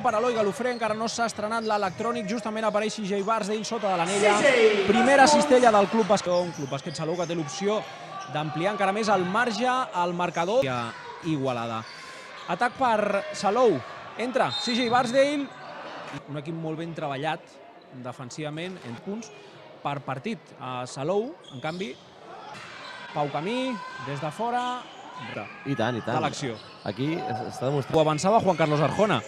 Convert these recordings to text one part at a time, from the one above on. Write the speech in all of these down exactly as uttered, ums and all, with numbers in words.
Per Eloi Galofré encara no s'ha estrenat l'electrònic, justament apareix C J Barsdale sota de l'anella. Primera cistella del Club Bàsquet, un Club Bàsquet Salou que té l'opció d'ampliar encara més el marge al marcador. Igualada. Atac per Salou. Entra C J Barsdale. Un equip molt ben treballat defensivament en punts per partit. A Salou, en canvi, Pau Camí, des de fora, I tant, i tant. de l'acció. Aquí està demostrant. Ho avançava Juan Carlos Arjona.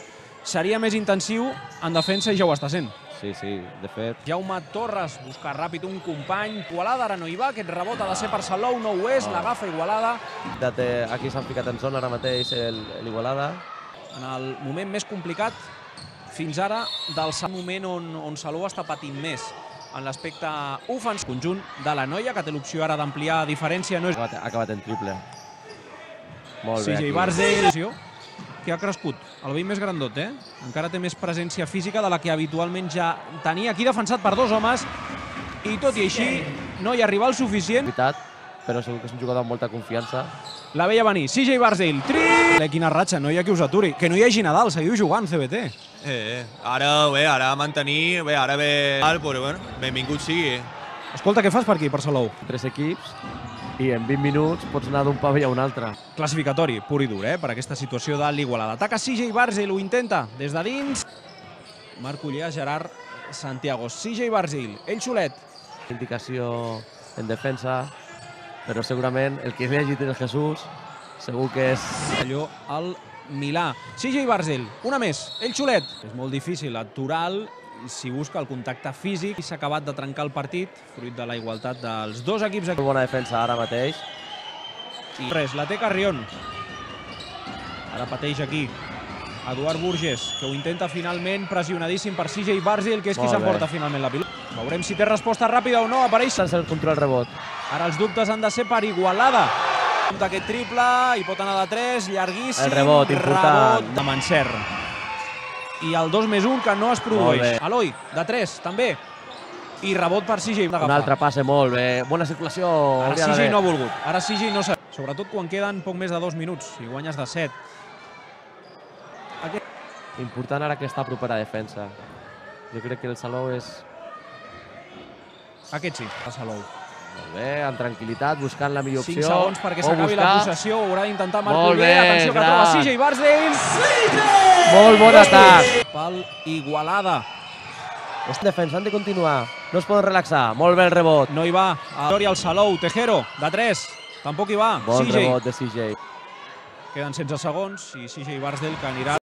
Seria més intensiu en defensa i ja ho està sent. Sí, sí, de fet. Jaume Torres busca ràpid un company. Igualada, ara no hi va. Aquest rebot ha de ser per Salou, no ho és. L'agafa Igualada. Aquí s'han ficat en zona ara mateix l'Igualada. En el moment més complicat fins ara del moment on, on Salou està patint més en l'aspecte ofensiu. Conjunt de la noia, que té l'opció ara d'ampliar diferència. No és... Ha acabat en triple. Molt bé. C J Barsdale, que ha crescut. El veí més grandot, eh? Encara té més presència física de la que habitualment ja tenia. Aquí defensat per dos homes. I tot i així no hi arriba el suficient. Però segur que és un jugador amb molta confiança. La veia venir. C J Barsdale. Tri! Quina ratxa, no hi ha qui us aturi. Que no hi hagi Nadal, seguiu jugant, C B T. Eh, ara, bé, ara mantenir, bé, ara bé, però bueno, benvingut sigui. Escolta, què fas per aquí, per Salou? Tres equips i en vint minuts pots anar d'un pavell a un altre. Classificatori, pur i dur, eh, per aquesta situació de l'Igualada. Ataca C J Barsdale, ho intenta des de dins. Marc Ullea, Gerard Santiago. C J Barsdale, ell solet. Indicació en defensa, però segurament el que li hagi dit el Jesús segur que és... Allò al Milà. C J Barsdale, una més, ell solet. És molt difícil aturar-lo si busca el contacte físic. S'ha acabat de trencar el partit, fruit de la igualtat dels dos equips. Molt bona defensa ara mateix. I res, la té Carrion. Ara pateix aquí Eduard Burgess, que ho intenta finalment, pressionadíssim per C J Barsdale, que és qui s'emporta finalment la pilota. Veurem si té resposta ràpida o no. Apareix sense el control rebot. Ara els dubtes han de ser per Igualada. Aquest triple, i pot anar de tres, llarguíssim. El rebot, important. Rebot de Mancer. I el dos més un que no es produeix. Eloi, de tres, també. I rebot per C J. Un altre passe, molt bé. Bona circulació. Ara C J no ha volgut. Ara C J no s'ha... Sobretot quan queden poc més de dos minuts. Si guanyes de set. Aquest... Important ara aquesta propera defensa. Jo crec que el Salou és... Aquest sí, el Salou. Molt bé, amb tranquil·litat, buscant la millor opció. cinc segons perquè s'acabi la possessió. Ho haurà d'intentar Marc Ullea. Atenció que troba C J Barsdale. Molt bon atac. Pel Igualada. Defensa, han de continuar. No es poden relaxar. Molt bé el rebot. No hi va. Gloria al Salou. Tejero, de tres. Tampoc hi va. Bon rebot de C J. Queden setze segons i C J Barsdale que anirà